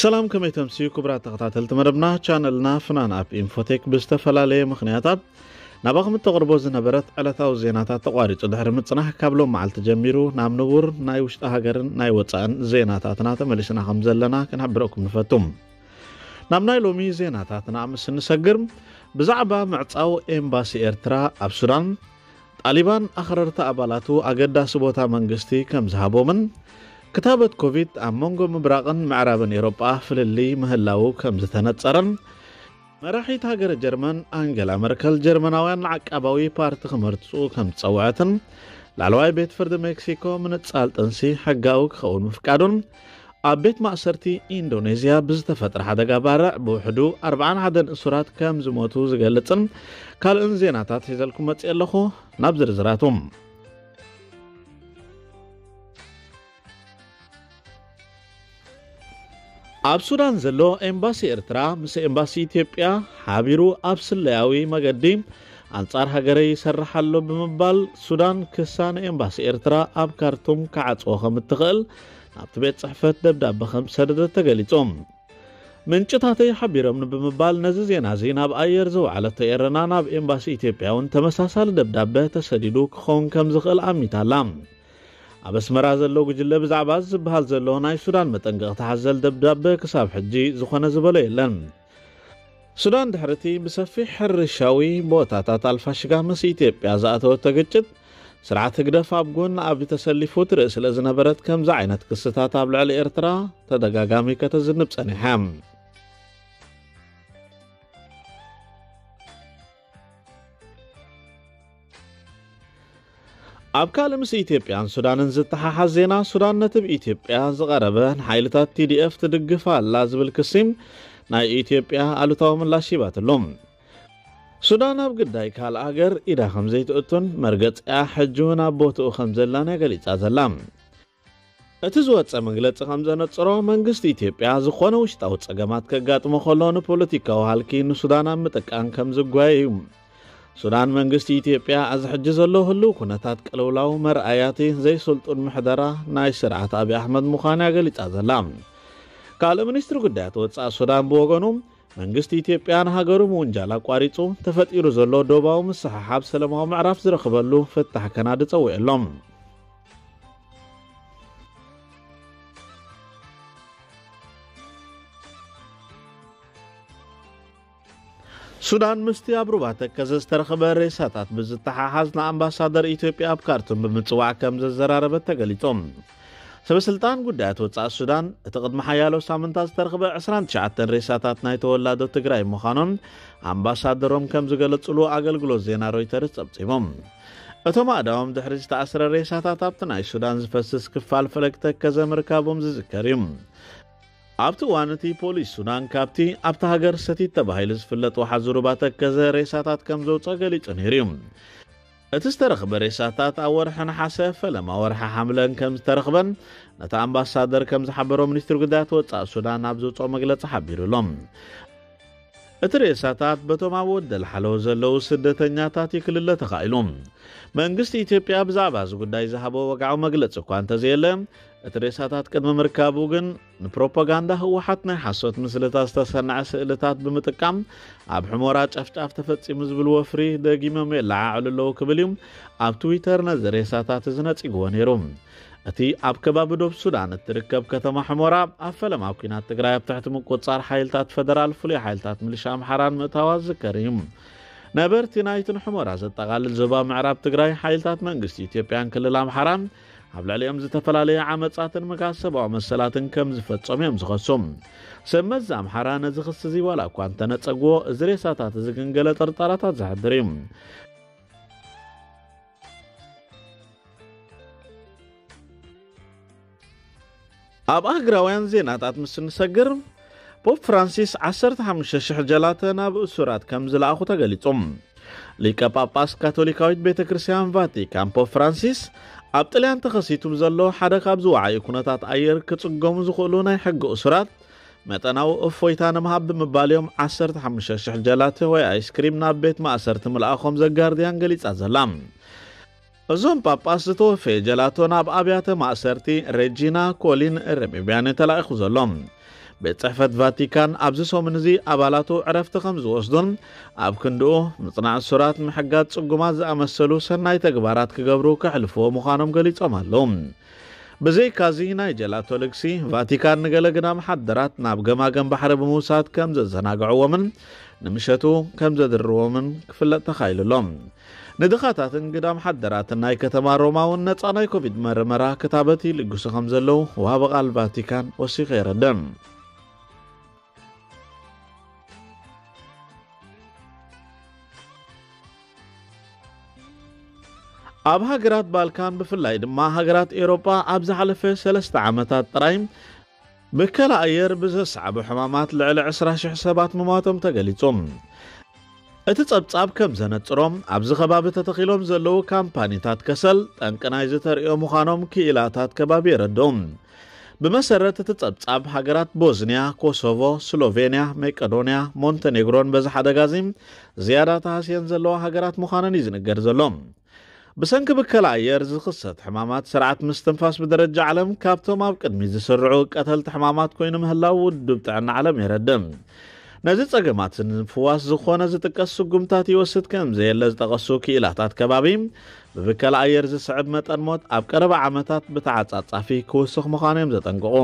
ሰላም፣ ከመይ ተምስዩ ክቡራት ተኸታተልቲ መደብና? ቻነልና ፍናን ኣፕ ኢንፎቴክ ብዝተፈላለየ ምኽንያታት ናባኹም እተቕርቦ ዝነበረት ዕለታዊ ዜናታት ተቋሪጹ ድሕሪ ምጽናሕ፣ ካብ ሎም መዓልቲ ጀሚሩ ናብ ንቡር ናይ ውሽጢ ሃገርን ናይ ወጻእን ዜናታትና ተመሊስና ከም ዘለና ክንሕብረኩም ንፈቱ። ናብ ናይ ሎሚ ዜናታትና ምስ እንሰግር፣ ብዛዕባ ምዕጻው ኤምባሲ ኤርትራ ኣብ ሱዳን፣ ጣሊባን ኣኽረርቲ ኣባላቱ ኣገዳሲ ቦታ መንግስቲ ከም ዝሃቦምን፣ ክታበት ኮቪድ ኣብ መንጎ ምብራቕን ምዕራብን ኤውሮጳ ፍልልይ ምህላዉ ከም ዝተነጸረን፣ መራሒት ሃገረ ጀርመን ኣንገላ መርከል ጀርመናውያን ንዓቃባዊ ፓርቲ ክመርጹ ከም ዝጸውዐትን፣ ላዕለዋይ ቤት ፍርዲ ሜክሲኮ ምንጻል ጥንሲ ሕጋዊ ክኸውን ምፍቃዱን፣ ኣብ ቤት ማእሰርቲ ኢንዶኔዝያ ብዝተፈጥረ ሓደጋ ባርዕ ብውሕዱ ኣርብዓን ሓደን እሱራት ከም ዝሞቱ ዝገልጽን ካልእን ዜናታት ሒዘልኩም መጽእ ኣለኹ። ናብ ዝርዝራቱ። ኣብ ሱዳን ዘሎ ኤምባሲ ኤርትራ ምስ ኤምባሲ ኢትዮጵያ ሓቢሩ ኣብ ስለያዊ መገዲ ኣንጻር ሃገረይ ይሰርሕ ኣሎ ብምባል፣ ሱዳን ክሳ ንኤምባሲ ኤርትራ ኣብ ካርቱም ክዓጽዎ ከም እትኽእል ናብቲ ቤት ጽሕፈት ደብዳበ ከም ዝሰደደት ተገሊጹ። ምንጭታተይ ሓቢሮምኒ ብምባል ነዚ ዜና እዚ ናብ ኣየር ዘውዓለቶ ኤረና፣ ናብ ኤምባሲ ኢትዮጵያ እውን ተመሳሳሊ ደብዳበ ተሰዲዱ ክኸውን ከም ዝኽእል ኣሚታ ኣላ። ኣብ ኣስመራ ዘሎ ጉጅለ ብዛዕባ እዚ ዝበሃል ዘሎ ናይ ሱዳን መጠንቀቕታ ሓዘል ደብዳበ ክሳብ ሕጂ ዝኾነ ዝበሎ የለን። ሱዳን ድሕርቲ ብሰፊሕ ሕርሻዊ ቦታታት ኣልፋሽጋ ምስ ኢትዮጵያ ዝኣተወቶ ግጭት፣ ስርዓት ህግደፍ ኣብ ጎኒ ኣብይ ተሰሊፉ ትርኢ ስለ ዝነበረት፣ ከምዚ ዓይነት ክስታት ኣብ ልዕሊ ኤርትራ ተደጋጋሚ ከተዝንብ ጸኒሓ። ኣብ ካልእ ምስ ኢትዮጵያን ሱዳንን ዝተሓሓዝ ዜና፣ ሱዳን ነቲ ብኢትዮጵያ ዝቐረበ ንሓይልታት ቲ ዲ ኤፍ ትድግፍ ኣላ ዝብል ክሲ ናይ ኢትዮጵያ ኣሉታዊ ምላሽ ሂባትሉ። ሱዳን ኣብ ግዳይ ካልእ ሃገር ኢዳ ከም ዘይትእቱን መርገጺኣ ሕጂ እውን ኣብ ቦትኡ ከም ዘላን እያ ገሊጻ ዘላ። እቲ ዝወጸ መግለጺ ከም ዘነጽሮ፣ መንግስቲ ኢትዮጵያ ዝኾነ ውሽጣዊ ጸገማት ከጋጥሞ ከሎ ንፖለቲካዊ ሃልኪ ንሱዳን ኣብ ምጥቃም ከም ዝጓየ እዩ። ሱዳን መንግስቲ ኢትዮጵያ እዚ ሕጂ ዘሎ ህልው ኩነታት ቅልውላው መርኣያቲ ዘይስልጡን ምሕደራ ናይ ስርዓት ኣብይ ኣሕመድ ምዃና እያ ገሊጻ ዘላ። ካልእ ሚኒስትሪ ጉዳያት ወጻኢ ሱዳን ብወገኑ፣ መንግስቲ ኢትዮጵያ ንሃገሩ ምውንጃል ኣቋሪጹ፣ ተፈጢሩ ዘሎ ዶባዊ ምስሕሓብ ሰላማዊ ምዕራፍ ዝረኽበሉ ፍታሕ ከናዲ ጸዊዑ ኣሎ። ሱዳን ምስቲ ኣብ ሩባ ተከዘ ዝተረኽበ ሬሳታት ብዝተሓሓዝ ንኣምባሳደር ኢትዮጵያ ኣብ ካርቱም ብምጽዋዕ ከም ዘዘራረበት ተገሊጹ። ሰበ ስልጣን ጉዳያት ወጻኢ ሱዳን፣ እቲ ቅድሚ ሓያሎ ሳምንታት ዝተረኽበ ዕስራን ትሽዓተን ሬሳታት ናይ ተወላዶ ትግራይ ምዃኖም ኣምባሳደሮም ከም ዝገለጹሉ ኣገልግሎት ዜና ሮይተርስ ጸብጺቡ። እቶም ኣእዳዎም ድሕሪ ዝተኣስረ ሬሳታት ኣብቲ ናይ ሱዳን ዝፈስስ ክፋል ፈለግ ተከዘ ምርካቦም ዝዝከር እዩ። ኣብቲ እዋን እቲ ፖሊስ ሱዳን ካብቲ ኣብታ ሃገር ሰቲት ተባሂሉ ዝፍለጥ ወሓዚ ሩባ ተከዘ ሬሳታት ከም ዘውፅኦ ገሊጹ ነይሩ እዩ። እቲ ዝተረኽበ ሬሳታት ኣብ ወርሒ ነሓሰ ፈለማ ወርሒ ሓምለን ከም ዝተረኽበን ነቲ ኣምባሳደር ከም ዝሓበሮ ሚኒስትሪ ጉዳያት ወጻኢ ሱዳን ኣብ ዘውፅኦ መግለጺ ሓቢሩ ኣሎ። እቲ ሬሳታት በቶም ኣብ ወደል ሓለዎ ዘለዉ ስደተኛታት እዩ ክልለ ተኻኢሉ። መንግስቲ ኢትዮጵያ ብዛዕባ እዚ ጉዳይ ዝሃቦ ወግዓዊ መግለጺ እኳ እንተዘየለ፣ እቲ ሬሳታት ቅድሚ ምርካቡ ግን ንፕሮፓጋንዳ ህወሓት ናይ ሓሶት ምስልታት ዝተሰንዐ ስእልታት ብምጥቃም ኣብ ሕሞራ ጨፍጫፍ ተፈጺሙ ዝብል ወፍሪ ደጊሞም የለዓዕሉ ኣለዉ ክብል እዩ ኣብ ትዊተር ነዚ ሬሳታት እዚ ነጺግዎ ነይሩ። እቲ ኣብ ከባቢ ዶብ ሱዳን እትርከብ ከተማ ሕሞራ ኣብ ፈለማ ኲናት ትግራይ ኣብ ትሕቲ ምቁጽጻር ሓይልታት ፈደራል ፍሉይ ሓይልታት ሚሊሻ ኣምሓራን ምእታዋ ዝዝከር እዩ። ነበርቲ ናይትን ሕሞራ ዘጠቓልል ዞባ ምዕራብ ትግራይ ሓይልታት መንግስቲ ኢትዮጵያን ክልል ኣምሓራን ኣብ ልዕሊኦም ዝተፈላለየ ዓመጻትን ምግሃስ ሰብኣዊ መሰላትን ከም ዝፈጸሙ እዮም ዝኸሱ። ሰብ መዚ ኣምሓራ ነዚ ክሲ እዚ ዋላ እኳ እንተነጸግዎ፣ እዚ ሬሳታት እዚ ግን ገለ ጥርጣራታት ዘሕድር እዩ። ኣብ ኣህግራውያን ዜናታት ምስ እንሰግር፣ ፖፕ ፍራንሲስ ዓሰርተ ሓሙሽተ ሽሕ ጀላተ ናብ እሱራት ከም ዝለኣኹ ተገሊጹ። ሊቀ ጳጳስ ካቶሊካዊት ቤተ ክርስቲያን ቫቲካን ፖፕ ፍራንሲስ ኣብ ጥልያን ተኸሲቱ ብዘሎ ሓደ ካብ ዝወዓዩ ኩነታት ኣየር ክጽገሙ ዝኽእሉ ናይ ሕጊ እሱራት መጠናዊ እፎይታ ንምሃብ ብምባል እዮም ዓሰርተ ሓሙሽተ ሽሕ ጀላተ ወይ ኣይስክሪም ናብ ቤት ማእሰርቲ ምልኣኾም ዘጋርድያን ገሊጻ ዘላ። እዞም ጳጳስ ዝተወፈየ ጀላቶ ናብ ኣብያተ ማእሰርቲ ሬጂና ኮሊን ረሚቢያን ተላኢኹ ዘሎ። ቤት ጽሕፈት ቫቲካን ኣብዚ ሰሙን እዚ ኣባላቱ ዕረፍቲ ከም ዝወስዱን ኣብ ክንድኡ ምጽናዕ እሱራት፣ ምሕጋዝ ጽጉማት ዝኣመሰሉ ሰናይ ተግባራት ክገብሩ ከሕልፍዎ ምዃኖም ገሊጾም ኣለዉ። ብዘይካዚ ናይ ጀላቶ ልግሲ ቫቲካን ንገለ ግዳም ሓደራት ናብ ገማገም ባሕሪ ብምውሳድ ከም ዘዘናግዕዎምን ንምሸቱ ከም ዘድርዎምን ክፍለጥ ተኻኢሉ ኣሎ። ንድኻታትን ግዳም ሓደራትን ናይ ከተማ ሮማ እውን ነጻ ናይ ኮቪድ መርመራ ክታበት ይልግሱ ከም ዘለዉ ወሃቢ ቃል ቫቲካን ወሲኹ የረድእ። ኣብ ሃገራት ባልካን ብፍላይ ድማ ሃገራት ኤውሮጳ ኣብ ዝሓለፈ ሰለስተ ዓመታት ጥራይ ብከላ ኣየር ብዘስዓቡ ሕማማት ልዕሊ ዕስራ ሽሕ ሰባት ምሟቶም ተገሊጹ። እቲ ጸብጻብ ከም ዘነጽሮ ኣብዚ ከባቢ ተተኺሎም ዘለዉ ካምፓኒታት ከሰል ጠንቂ ናይዚ ተርእዮ ምዃኖም ክኢላታት ከባቢ የረድኡ። ብመሰረት እቲ ጸብጻብ ሃገራት ቦዝንያ፣ ኮሶቮ፣ ስሎቬንያ፣ መቄዶንያ፣ ሞንተኔግሮን በዚ ሓደጋ እዚ ዝያዳ ተሃስየን ዘለዋ ሃገራት ምዃነን እዩ ዝንገር ዘሎ። ብሰንኪ ብከላ ኣየር ዝኽሰት ሕማማት ስርዓት ምስትንፋስ ብደረጃ ዓለም ካብቶም ኣብ ቅድሚት ዝስርዑ ቀተልቲ ሕማማት ኮይኑ ምህላው ውድብ ጥዕና ዓለም የረድእ። ነዚ ጸገማት ንምፍዋስ ዝኾነ ዝጥቀስ ስጉምታት ይወስድ ከም ዘየለ ዝጠቐሱ ክኢላታት ከባቢ ብብከላ ኣየር ዝስዕብ መጠን ሞት ኣብ ቀረባ ዓመታት ብተዓጻጻፊ ክውስኽ ምዃኑ እዮም ዘጠንቅቑ።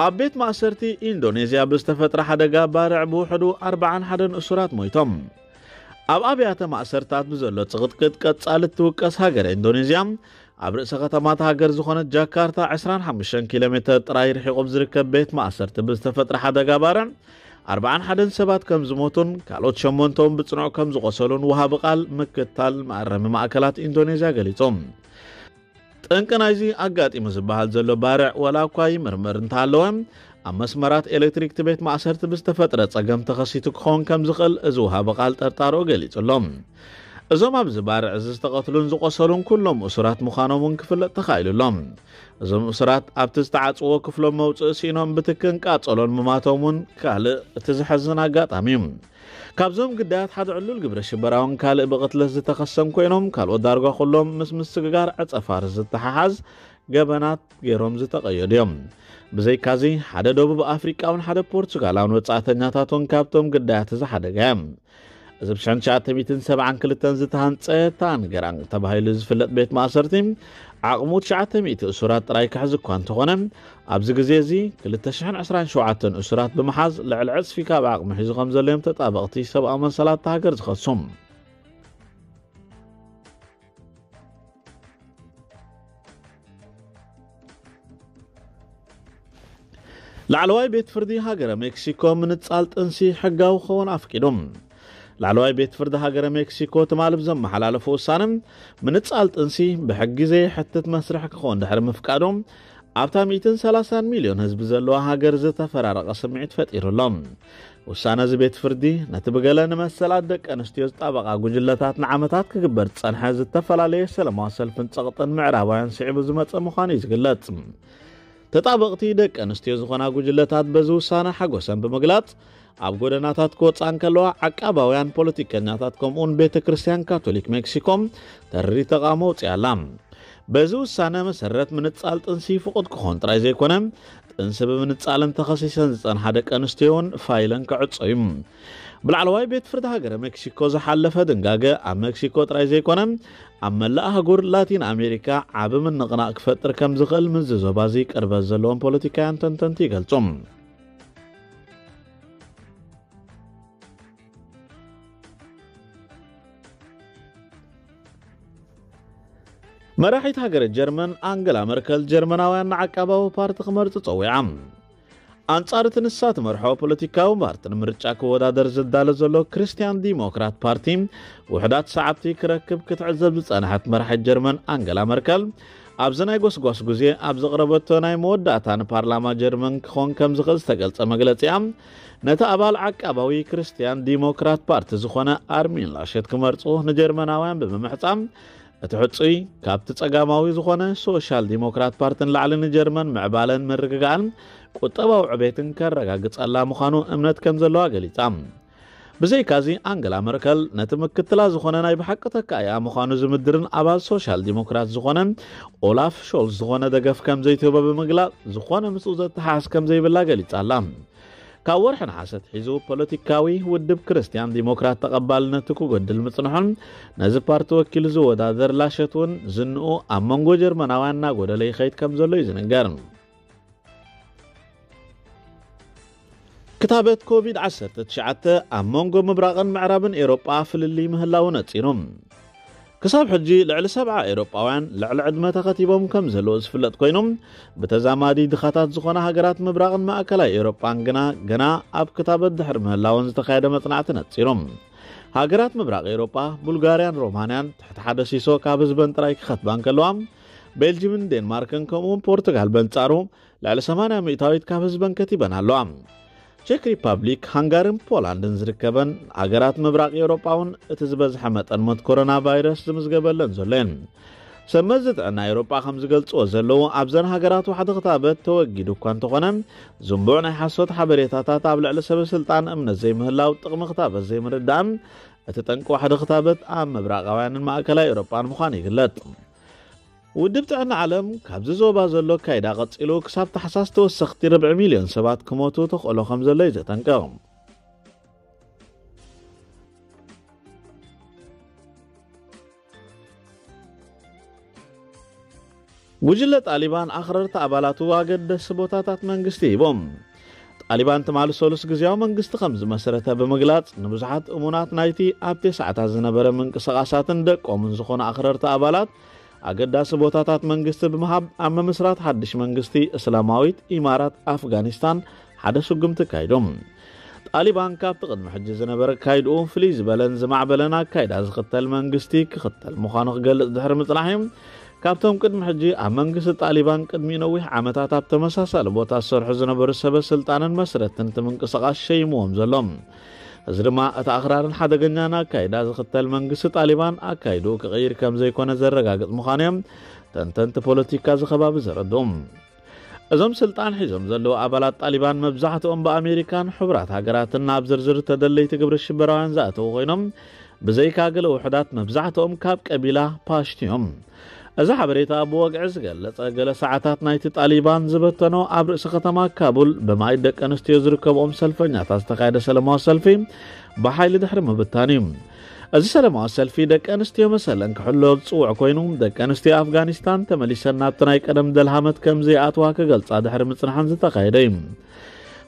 ኣብ ቤት ማእሰርቲ ኢንዶኔዝያ ብዝተፈጥረ ሓደጋ ባርዕ ብውሕዱ ኣርባዓን ሓደን እሱራት ሞይቶም። ኣብ ኣብያተ ማእሰርታት ብዘሎ ጽቕጥቅጥ ቀጻሊ እትውቀስ ሃገረ ኢንዶኔዝያ፣ ኣብ ርእሰ ከተማታ ሃገር ዝኾነት ጃካርታ ዕስራን ሓሙሽተን ኪሎ ሜተር ጥራይ ርሒቑ ኣብ ዝርከብ ቤት ማእሰርቲ ብዝተፈጥረ ሓደጋ ባርዕ ኣርባዓን ሓደን ሰባት ከም ዝሞቱን ካልኦት ሸሞንተ እውን ብጽኑዕ ከም ዝቖሰሉን ወሃቢ ቃል ምክትታል መኣረሚ ማእከላት ኢንዶኔዝያ ገሊጹ። ጠንቂ ናይዚ ኣጋጢሙ ዝበሃል ዘሎ ባርዕ ዋላ እኳ ይምርምር እንተሃለወ፣ ኣብ መስመራት ኤሌክትሪክ እቲ ቤት ማእሰርቲ ብዝተፈጥረ ጸገም ተኸሲቱ ክኸውን ከም ዝኽእል እዚ ወሃቢ ቃል ጠርጣርኡ ገሊጹ ኣሎ። እዞም ኣብዚ ባርዕ እዚ ዝተቐትሉን ዝቖሰሉን ኩሎም እሱራት ምዃኖም እውን ክፍለጥ ተኻኢሉ ኣሎ። እዞም እሱራት ኣብቲ ዝተዓጽዎ ክፍሎም መውጽኢ ስኢኖም ብትክን ቃጸሎን ምማቶም እውን ካልእ እቲ ዘሐዝን ኣጋጣሚ እዩ። ካብዞም ግዳያት ሓደ ዕሉል ግብረ ሽበራውን ካልእ ብቕትለት ዝተኸሰን ኮይኖም፣ ካልኦት ዳርጋ ኩሎም ምስ ምስግጋር ዕጸ ፋርስ ዝተሓሓዝ ገበናት ገይሮም ዝተቐየዱ እዮም። ብዘይካዚ ሓደ ደቡብ ኣፍሪቃውን ሓደ ፖርቹጋላውን ወጻእተኛታት እውን ካብቶም ግዳያት እዚ ሓደጋ እዮም። እዚ ብ ሽሕን ትሽዓተ ሚእትን ሰብዓን ክልተን ዝተሃንጸ ታንገራንግ ተባሂሉ ዝፍለጥ ቤት ማእሰርቲ ዓቕሙ ትሽዓተ ሚእቲ እሱራት ጥራይ ክሕዝ እኳ እንተኾነ፣ ኣብዚ ግዜ እዚ ክልተ ሽሕን ዕስራን ሸውዓተን እሱራት ብምሓዝ ልዕሊ ዕጽፊ ካብ ዓቕሙ ሒዙ ከም ዘሎ እዮም ተጣበቕቲ ሰብኣዊ መሰላት እታ ሃገር ዝኸሱ። ላዕለዋይ ቤት ፍርዲ ሃገረ ሜክሲኮ ምንጻል ጥንሲ ሕጋዊ ክኸውን ኣፍቂዱ። ላዕለዋይ ቤት ፍርዲ ሃገረ ሜክሲኮ ትማሊ ብዘመሓላለፎ ውሳነ፣ ምንጻል ጥንሲ ብሕጊ ዘየሕትት መስርሕ ክኸውን ድሕሪ ምፍቃዱ፣ ኣብታ ሚእትን ሰላሳን ሚልዮን ህዝቢ ዘለዋ ሃገር ዝተፈራረቐ ስምዒት ፈጢሩ ኣሎ። ውሳነ እዚ ቤት ፍርዲ፣ ነቲ ብገለ ንመሰላት ደቂ ኣንስትዮ ዝጣበቓ ጉጅለታት ንዓመታት ክግበር ዝጸንሐ ዝተፈላለየ ሰላማዊ ሰልፍን ጸቕጥን ምዕራባውያን ስዒቡ ዝመጸ ምዃኑ እዩ ዝግለጽ። ተጣበቕቲ ደቂ ኣንስትዮ ዝኾና ጉጅለታት በዚ ውሳነ ሓጎሰን ብምግላጽ፣ ኣብ ጎደናታት ክወጻ እንከለዋ፣ ዓቃባውያን ፖለቲከኛታት ከምኡውን ቤተ ክርስቲያን ካቶሊክ ሜክሲኮ ተሪር ተቓውሞ ኣውጺኣ ኣላ። በዚ ውሳነ መሰረት ምንጻል ጥንሲ ፍቑድ ክኾን ጥራይ ዘይኮነ፣ ጥንሲ ብምንጻልን ተኸሲሰን ዝጸንሓ ደቂ ኣንስትዮ እውን ፋይለን ክዕጾ እዩ። ብላዕለዋይ ቤት ፍርዲ ሃገረ ሜክሲኮ ዝሓለፈ ድንጋገ ኣብ ሜክሲኮ ጥራይ ዘይኮነ፣ ኣብ መላእ ኣህጉር ላቲን ኣሜሪካ ዓቢ ምንቕናቕ ክፈጥር ከም ዝኽእል ምስዚ ዞባ እዚ ቅርበት ዘለዎም ፖለቲካውያን ተንተንቲ ይገልጹ። መራሒት ሃገረ ጀርመን ኣንገላ መርከል ጀርመናውያን ንዓቃባዊ ፓርቲ ክመርጹ ጸዊዓ። ኣንጻር እቲ ንሳ ትመርሖ ፖለቲካዊ ፓርቲ ንምርጫ ክወዳደር ዝዳሎ ዘሎ ክርስትያን ዲሞክራት ፓርቲ ውሑዳት ሰዓብቲ ክረክብ ክትዕዘብ ዝጸንሐት መራሒት ጀርመን ኣንገላ መርከል ኣብዚ ናይ ጎስጓስ ግዜ ኣብ ዘቕረበቶ ናይ መወዳእታ ንፓርላማ ጀርመን ክኾን ከም ዝኽእል ዝተገልጸ መግለጺኣ ነቲ ኣባል ዓቃባዊ ክርስትያን ዲሞክራት ፓርቲ ዝኾነ ኣርሚን ላሸት ክመርጹ ንጀርመናውያን ብምምሕጻም እቲ ሕጹይ ካብቲ ጸጋማዊ ዝኾነ ሶሻል ዲሞክራት ፓርቲ ንላዕሊ ንጀርመን ምዕባለን ምርግጋእን ቁጠባዊ ዕቤትን ከረጋግጸላ ምዃኑ እምነት ከም ዘለዋ ገሊጻ። ብዘይካዚ ኣንገላ መርከል ነቲ ምክትላ ዝኾነ ናይ ብሓቂ ተካኢኣ ምዃኑ ዝምድርን ኣባል ሶሻል ዲሞክራት ዝኾነ ኦላፍ ሾልዝ ዝኾነ ደገፍ ከም ዘይትህቦ ብምግላጽ ዝኾነ ምስኡ ዘተሓሕዝ ከም ዘይብላ ገሊጻ ኣላ። ካብ ወርሒ ነሓሰ ኣትሒዙ ፖለቲካዊ ውድብ ክርስትያን ዲሞክራት ተቐባልነቱ ክጎድል ምጽንሑን ነዚ ፓርቲ ወኪሉ ዝወዳደር ላሸት እውን ዝንኡ ኣብ መንጎ ጀርመናውያን እናጎደለ ይኸይድ ከም ዘሎ እዩ ዝንገር። ክታበት ኮቪድ ዓሰርተ ትሽዓተ ኣብ መንጎ ምብራቕን ምዕራብን ኤውሮጳ ፍልልይ ምህላው ነጺሩ። ክሳብ ሕጂ ልዕሊ ሰብዓ ኤውሮጳውያን ልዕሊ ዕድመ ተኸቲቦም ከም ዘለዉ ዝፍለጥ ኮይኑ፣ ብተዛማዲ ድኻታት ዝኾና ሃገራት ምብራቕን ማእከላይ ኤውሮጳን ግና ገና ኣብ ክታበት ድሕሪ ምህላወን ዝተኻየደ መጽናዕቲ ነጺሩ። ሃገራት ምብራቕ ኤውሮጳ፣ ቡልጋርያን ሮማንያን ትሕቲ ሓደ ሲሶ ካብ ህዝበን ጥራይ ክኸትባ እንከለዋ፣ ቤልጅምን ዴንማርክን ከምኡውን ፖርቱጋል በንጻሩ ልዕሊ ሰማንያ ሚእታዊት ካብ ህዝበን ከቲበን ኣለዋ። ቼክ ሪፓብሊክ፣ ሃንጋርን ፖላንድን ዝርከበን ሃገራት ምብራቕ ኤውሮጳ እውን እቲ ዝበዝሐ መጠን ሞት ኮሮና ቫይረስ ዝምዝገበለን ዘሎ እየን። ሰብ መዚ ጥዕና ኤውሮጳ ከም ዝገልጽዎ ዘለዉ፣ ኣብዘን ሃገራት ዋሕዲ ክታበት ተወጊዱ እኳ እንተኾነ፣ ዝንቡዕ ናይ ሓሶት ሓበሬታታት ኣብ ልዕሊ ሰበ ስልጣን እምነት ዘይምህላው፣ ጥቕሚ ክታበት ዘይምርዳእን እቲ ጠንቂ ዋሕዲ ክታበት ኣብ ምብራቓውያንን ማእከላይ ኤውሮጳን ምዃኑ ይግለጽ። ውድብ ጥዕና ዓለም ካብዚ ዞባ ዘሎ ኣካይዳ ቀጺሉ ክሳብ ታሕሳስ ተወሰኽቲ ርብዒ ሚልዮን ሰባት ክሞቱ ተኽእሎ ከም ዘሎ እዩ ዘጠንቅቕ። ጉጅለ ጣሊባን ኣኽረርቲ ኣባላቱ ኣገደስቲ ቦታታት መንግስቲ ሂቦም። ጣሊባን ትማሊ ሰሉስ ግዝያዊ መንግስቲ ከም ዝመሰረተ ብምግላጽ፣ ንብዙሓት እሙናት ናይቲ ኣብ ተስዓታት ዝነበረ ምንቅስቓሳትን ደቆምን ዝኾኑ ኣኽረርቲ ኣባላት ኣገዳሲ ቦታታት መንግስቲ ብምሃብ፣ ኣብ ምምስራት ሓድሽ መንግስቲ እስላማዊት ኢማራት ኣፍጋኒስታን ሓደ ስጉምቲ ኣካይዶም። ጣሊባን ካብቲ ቅድሚ ሕጂ ዝነበረ ኣካይድኡ ፍልይ ዝበለን ዝማዕበለን ኣካይዳ ዝኽተል መንግስቲ ክኽተል ምዃኑ ክገልጽ ድሕሪ ምጽናሕ እዩ። ካብቶም ቅድሚ ሕጂ ኣብ መንግስቲ ጣሊባን ቅድሚ ነዊሕ ዓመታት ኣብ ተመሳሳሊ ቦታ ዝሰርሑ ዝነበሩ ሰበ ስልጣንን መስረትን እቲ ምንቅስቓስ ሸይምዎም ዘሎ። እዚ ድማ እቲ ኣኽራርን ሓደገኛን ኣካይዳ ዝኽተል መንግስቲ ጣሊባን ኣካይድኡ ክቕይር ከም ዘይኮነ ዘረጋግጽ ምዃኑ እዮም ተንተንቲ ፖለቲካ እዚ ከባቢ ዘረድኡ። እዞም ስልጣን ሒዞም ዘለዉ ኣባላት ጣሊባን መብዛሕትኦም ብኣሜሪካን ሕቡራት ሃገራትን ናብ ዝርዝር ተደለይቲ ግብሪ ሽበራውያን ዝኣተዉ ኮይኖም፣ ብዘይካ ገለ ውሑዳት መብዛሕትኦም ካብ ቀቢላ ፓሽቱ እዮም። እዚ ሓበሬታ ብወግዒ ዝገለጸ፣ ገለ ሰዓታት ናይቲ ጣሊባን ዝበተኖ ኣብ ርእሲ ከተማ ካቡል ብማይ ደቂ ኣንስትዮ ዝርከብኦም ሰልፈኛታት ዝተኻየደ ሰላማዊ ሰልፊ ብሓይሊ ድሕሪ ምብታን እዩ። እዚ ሰላማዊ ሰልፊ ደቂ ኣንስትዮ መሰለን ክሕሎ ዝጽውዕ ኮይኑ፣ ደቂ ኣንስትዮ ኣፍጋኒስታን ተመሊሰን ናብቲ ናይ ቀደም ደልሃመት ከም ዘይኣትዋ ክገልጻ ድሕሪ ምጽንሐን ዝተኻየደ እዩ።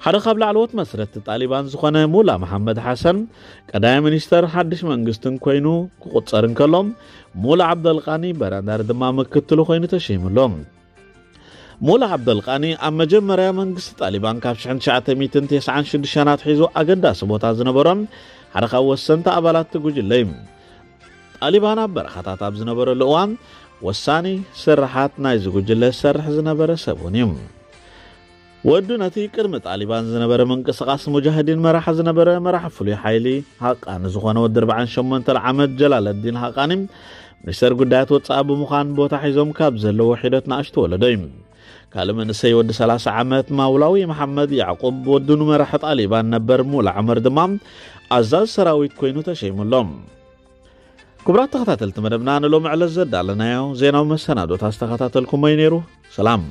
ሓደ ካብ ላዕለዎት መስረትቲ ጣሊባን ዝኾነ ሙላ መሓመድ ሓሰን ቀዳማይ ሚኒስተር ሓድሽ መንግስትን ኮይኑ ክቑጸር እንከሎ፣ ሙላ ዓብደልቃኒ በረንዳር ድማ ምክትሉ ኮይኑ ተሸይሙ ኣሎ። ሙላ ዓብደልቃኒ ኣብ መጀመርያ መንግስቲ ጣሊባን ካብ ሽሕን ትሽዓተ ሚእትን ተስዓን ሽዱሽተን ኣትሒዙ ኣገዳሲ ቦታ ዝነበሮን ሓደ ካብ ወሰንቲ ኣባላት እቲ ጉጅለ እዩ። ጣሊባን ኣብ በረኻታት ኣብ ዝነበረሉ እዋን ወሳኒ ስርሓት ናይዚ ጉጅለ ዝሰርሕ ዝነበረ ሰብ እውን እዩ። ወዱ ነቲ ቅድሚ ጣሊባን ዝነበረ ምንቅስቓስ ሙጃሂዲን መራሒ ዝነበረ መራሒ ፍሉይ ሓይሊ ሃቃኒ ዝኾነ ወዲ ኣርባዓን ሸሞንተን ዓመት ጀላለዲን ሃቃኒ ሚኒስተር ጉዳያት ወጻኢ ብምዃን ቦታ ሒዞም ካብ ዘለዉ ሒደት ንኣሽቱ ወለዶ እዩ። ካልእ መንእሰይ ወዲ ሰላሳ ዓመት ማውላዊ መሓመድ ያዕቁብ ወዱ ንመራሒ ጣሊባን ነበር ሙላ ዑመር ድማ ኣዛዝ ሰራዊት ኮይኑ ተሸይሙ ኣሎ። ክቡራት ተኸታተልቲ መደብና፣ ንሎሚ ዕለት ዘዳለናዮ ዜናዊ መሰናዶታት ዝተኸታተልኩሞ እዩ ነይሩ። ሰላም።